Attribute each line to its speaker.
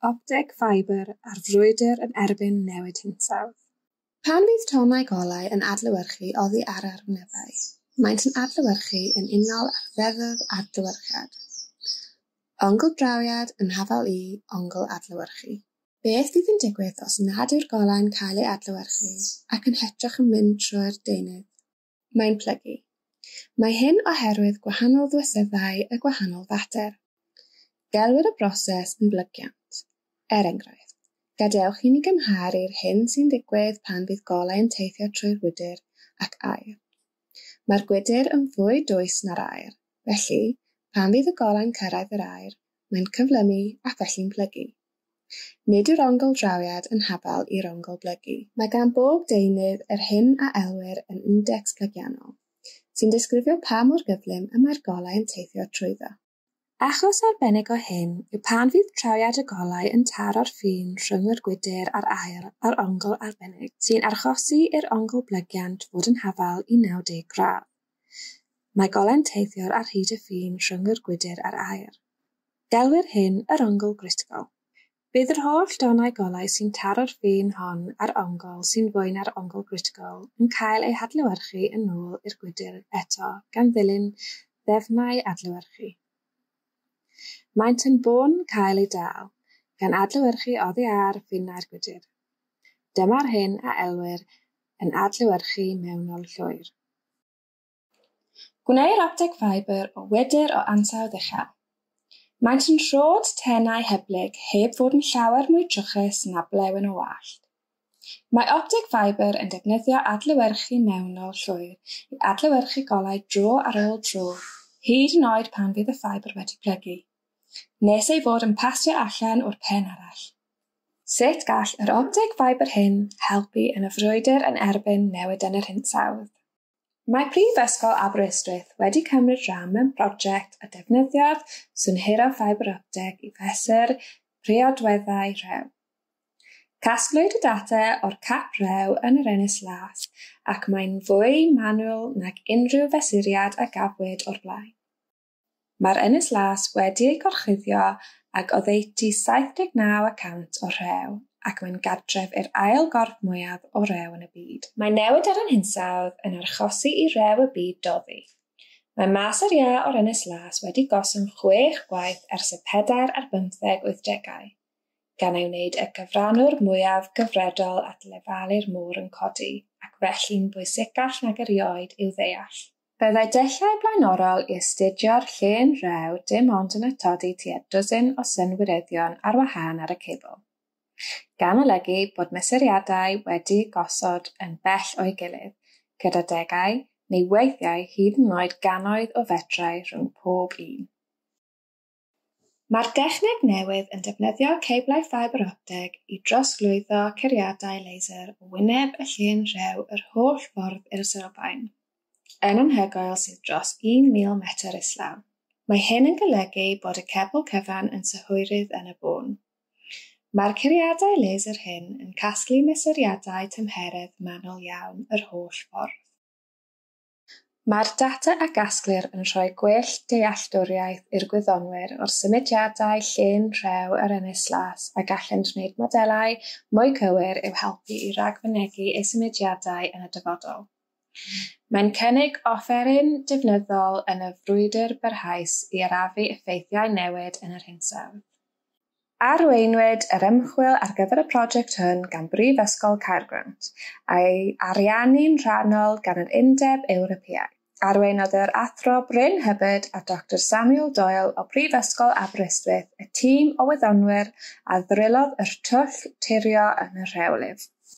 Speaker 1: Opteg ffibr a'r frwydr yn erbyn newid hinsawdd. Pan fydd tonnau golau yn adlewyrchu oddi ar arwynebau, maent yn adlewyrchu yn unol â'r ddeddf adlewyrchiad. Ongl drawiad yn hafal i ongl adlewyrchu. Beth fydd yn digwydd os nad yw'r golau'n cael ei adlewyrchu ac yn hytrach yn mynd trwy'r deunydd? Mae'n plygu. Mae hyn oherwydd gwahanol ddwyseddau y gwahanol fater. Gelwir y broses yn blygiant. Er enghraifft, gadewch i ni gymharu'r hyn sy'n digwydd pan fydd golau yn teithio trwy'r gwydr ac aer. Mae'r gwydr yn fwy dwys na'r aer, felly, pan fydd y golau'n cyrraedd yr aer, mae'n cyflymu ac felly'n plygu. Nid yw'r ongl drawiad yn hafal i'r ongl blygu. Mae gan bob deunydd yr hyn a elwir yn indecs plygiannol, sy'n disgrifio pa mor gyflym y mae'r golau yn teithio trwyddo. Achos arbennig o hyn yw pan fydd trawiad y golau yn taro'r ffin rhwng yr gwydr a'r aer ar ongl arbennig, sy'n achosi i'r ongl blygiant fod yn hafal i 90 gradd. Mae golau'n teithio ar hyd y ffin rhwng yr gwydr a'r aer. Gelwir hyn yr ongl gritigol. Bydd yr holl donnau golau sy'n taro'r ffin hon ar ongl sy'n fwy na'r ongl gritigol yn cael eu hadlewyrchu yn ôl i'r gwydr eto gan ddilyn ddefnau adlewyrchu. Maent yn bôn cael eu dal, gan adlewyrchu oddi ar finnau'r gwydr. Dyma'r hyn a elwir yn adlewyrchu mewnol llwyr. Gwneir opteg ffibr o wydr o ansawdd uchel. Maent yn rhod tenau hyblyg heb fod yn llawer mwy trwchus na blewyn o wallt. Mae opteg ffibr yn defnyddio adlewyrchu mewnol llwyr i adlewyrchu golau dro ar ôl tro, hyd yn oed pan fydd y ffibr wedi plygu, nes ei fod yn pasio allan o'r pen arall. Sut gall yr opteg ffibr hyn helpu yn y frwydr yn erbyn newid yn yr hinsawdd? Mae Prifysgol Aberystwyth wedi cymryd rhan mewn prosiect a defnyddiodd synhwyro ffibr opteg i fesur priodweddau rhew. Casglwyd y data o'r cap rhew yn yr Ynys Las ac mae'n fwy manwl nag unrhyw fesuriad a gafwyd o'r blaen. Mae'r Ynys Las wedi ei gorchuddio ag oddeutu 79% o rhew ac mae'n gartref i'r ail gorff mwyaf o rew yn y byd. Mae newid ar ein hinsawdd yn achosi i rew y byd doddi. Mae mas yr iâ o'r Ynys Las wedi gostwng 6 gwaith ers y 1940au, gan ei wneud y cyfrannwr mwyaf gyfredol at lefelau'r môr yn codi, ac felly'n bwysicach nag erioed i'w ddeall. Byddai dulliau blaenorol i astudio'r llên rhew dim ond yn atodi tua dwsin o synwyryddion ar wahân ar y cebl, gan olygu bod mesuriadau wedi'u gosod yn bell o'i gilydd, gyda degau neu weithiau hyd yn oed gannoedd o fetrau rhwng pob un. Mae'r dechneg newydd yn defnyddio ceblau ffibr opteg i drosglwyddo curiadau laser o wyneb y llên rhew yr holl ffordd i'r sylfaen, yn anhygoel sydd dros 1,000 metr islaw. Mae hyn yn golygu bod y cebl cyfan yn synhwyrydd yn y bôn. Mae'r curiadau laser hyn yn casglu mesuriadau tymheredd manwl iawn yr holl ffordd. Mae'r data a gasglir yn rhoi gwell dealltwriaeth i'r gwyddonwyr o'r symudiadau llên rhew yr Ynys Las a gallent wneud modelau mwy cywir i'w helpu i ragfynegi eu symudiadau yn y dyfodol. Mae'n cynnig offeryn defnyddiol yn y frwydr barhaus i arafu effeithiau newid yn yr hinsawdd. Arweinwyd yr ymchwil ar gyfer y prosiect hwn gan Brifysgol Caergrawnt, a'i ariannu'n rhannol gan yr Undeb Ewropeaidd. Arweinodd yr Athro Bryn Hubbard a Dr Samuel Doyle o Brifysgol Aberystwyth y tîm o wyddonwyr a ddrilodd y twll turio yn y rhewlif.